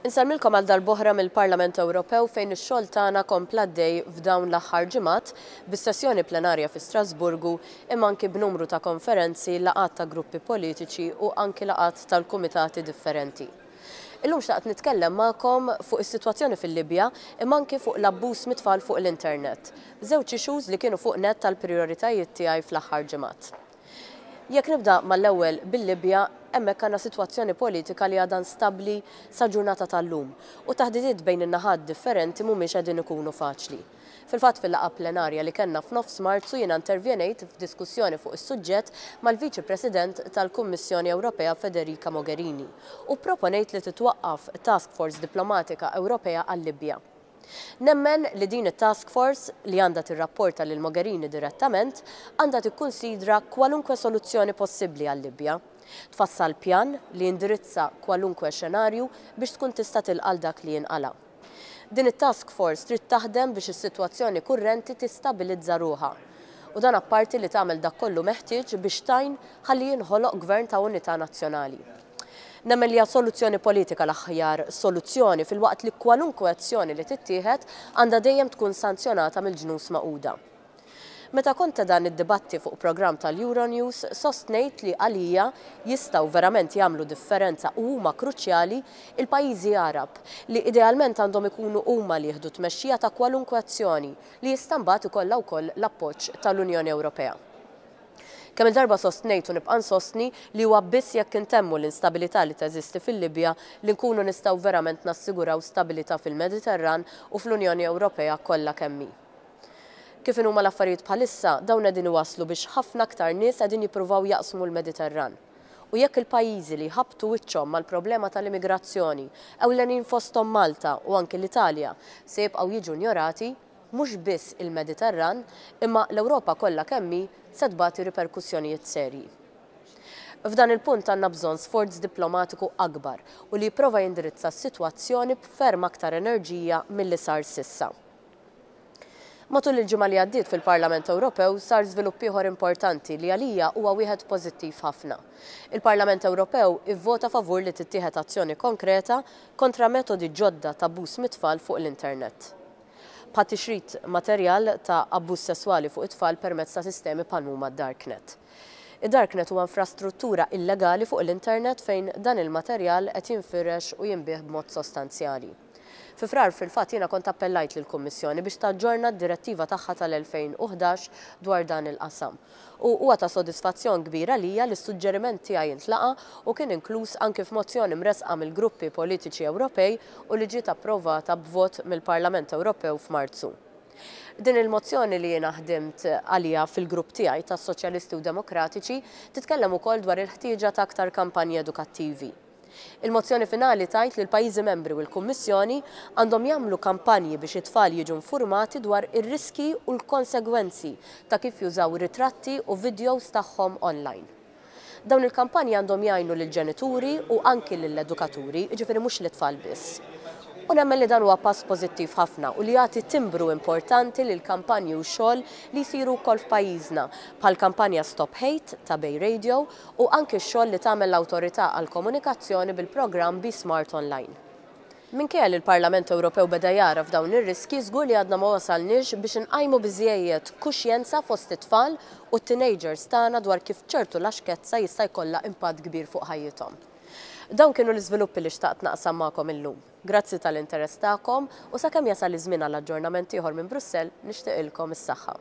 Insellmilkom għal darb'oħra mill-Parlament Ewropew fejn ix-xogħol tagħna kompla għaddej f'dawn l-aħħar ġimgħat bis-sessjoni plenarja fi Strasburgu imma anki b'numru ta' konferenzi, laqgħat ta' gruppi politiċi u anki laqgħat tal-kumitati differenti. Illum xtaqt nitkellem magħkom fuq is-sitwazzjoni fil-Libja imma anki fuq l-abbuż mit-tfal fuq l-internet. Żewġ issues li kienu fuq nett tal-prijoritajiet tiegħi fl-aħħar ġimgħat. Jekk nibda mal-ewwel bil-Libja, hemmhekk għandna sitwazzjoni politika li għadha instabbli sa ġurnata tal-lum u t-taħdidiet bejn in-naħat differenti mhumiex qegħdin ikunu faċli. Fil-fatt fil-laqgħa plenarja li kellna f'nofs Marzu jiena intervjenejt f'diskussjoni fuq is-suġġett mal-Viċi President tal-Kummissjoni Ewropea Federica Mogherini u pproponejt li titwaqqaf Task Force Diplomatika Ewropea għal-Libja. Nemmen li din it-task force, li għandha tirrapporta lil Mogherini direttament, għandha tikkunsidra kwalunkwe soluzzjoni possibbli għal-Libja. Tfassal pjan li jindirizza kwalunkwe xenarju biex tkun tista' tilqa' għal dak li jinqala'. Din it-task force trid taħdem biex is-sitwazzjoni kurrenti tistabilizza ruħha. U dan apparti li tagħmel dak kollu meħtieġ biex tgħin ħalli jinħoloq gvern ta' unità nazzjonali. Nemmen li hija soluzzjoni politika l-aħjar soluzzjoni filwaqt li kwalunkwe azzjoni li tittieħed għandha dejjem tkun sanzjonata mill-Ġnus Magħquda. Meta kont ta' dan id-dibatti fuq programm tal-Euronews sostnejt li għalija jistgħu verament jagħmlu differenza u huma kruċjali il-pajjiżi Għarab li idealment għandhom ikunu huma li jieħdu t-tmexxija ta' kwalunkwe azzjoni li jista' mbagħad ikollha wkoll l-appoġġ tal-Unjoni Ewropea. Kemm-il darba sostnejt u nibqa' nsostni li huwa biss jekk intemmu l-instabilità li teżisti fil-Libja li nkunu nistgħu verament nassiguraw stabilità fil-Mediterran u fl-Unjoni Ewropea kollha kemm hi. Kif inhuma l-affarijiet bħalissa, dawn qegħdin iwasslu biex ħafna aktar nies qegħdin jippruvaw jaqsmu l-Mediterran. U jekk il-pajjiżi li jħabbtu wiċċhom mal-problema tal-immigrazzjoni, ewlenin fosthom Malta u anki l-Italja, se jibqgħu jiġu njorati, mhux biss il-Mediterran, imma l-Ewropa kollha kemm hi se tbati riperkussjonijiet serji. F'dan il-punt għandna bżonn sforz diplomatiku akbar u li jipprova jindirizza s-sitwazzjoni b'ferm aktar enerġija milli sar s'issa. Matul il-ġimgħa li għaddiet fil-Parlament Ewropew sar żvilupp ieħor importanti li għalija huwa wieħed pożittiv ħafna. Il-Parlament Ewropew ivvota favur li tittieħed azzjoni konkreta kontra metodi ġodda t'abbuż mit-tfal fuq l-internet. Bħat-tixrid materjal ta' abbuż sesswali fuq it-tfal permezz ta' sistemi bħal m'huma d-darknet. Id-darknet huwa infrastruttura illegali fuq l-internet fejn dan il-materjal qed jinfirex u jinbiegħ b'mod sostanzjali. Fi Frar fil-fatt jiena kont appellajt lill-Kummissjoni biex taġġorna d-direttiva tagħha tal-2011 dwar dan il-qasam. U huwa ta' sodisfazzjon kbir għalija li s-suġġeriment tiegħi ntlaqa' u kien inkluż anki f'mozzjoni mressqa mill-gruppi politiċi Ewropej u li ġiet approvata b'vot mill-Parlament Ewropew f'Marzu. Din il-mozzjoni li jiena ħdimt għaliha fil-grupp tiegħi tas-Soċjalisti u Demokratiċi titkellem ukoll dwar il-ħtieġa ta' aktar kampanji edukattivi. Il-mozzjoni finali tgħid li l-pajjiżi membri u l-Kummissjoni għandhom jagħmlu kampanji biex it-tfal jiġu nfurmati dwar ir-riskji u l-konsegwenzi ta' kif jużaw ritratti u vidjows tagħhom online. Dawn il-kampanji għandhom jgħinu lill-ġenituri u anki lill-edukaturi, jiġifieri mhux lit-tfal biss. U nemmen li dan huwa pass pożittiv ħafna u li jagħti timbru importanti lil kampanji u xogħol li jsiru wkoll f'pajjiżna, bħall-kampanja Stop Hate ta' Bay Radio u anki x-xogħol li tagħmel l-Awtorità għall-Komunikazzjoni bil-programm Be Smart Online. Minkejja li l-Parlament Ewropew beda jagħraf dawn ir-riskji, żgur li għadna ma wasalniex biex inqajmu biżżejjed kuxjenza fost it-tfal u t-teenagers tagħna dwar kif ċertu laxkezza jista' jkollha impatt kbir fuq ħajjithom. Dawn kienu l-iżviluppi li xtaqt naqsam magħkom illum. Grazzi tal-interess tagħkom u sakemm jasal iż-żmien għal aġġornament ieħor minn Brussell nixtieqilkom is-saħħa.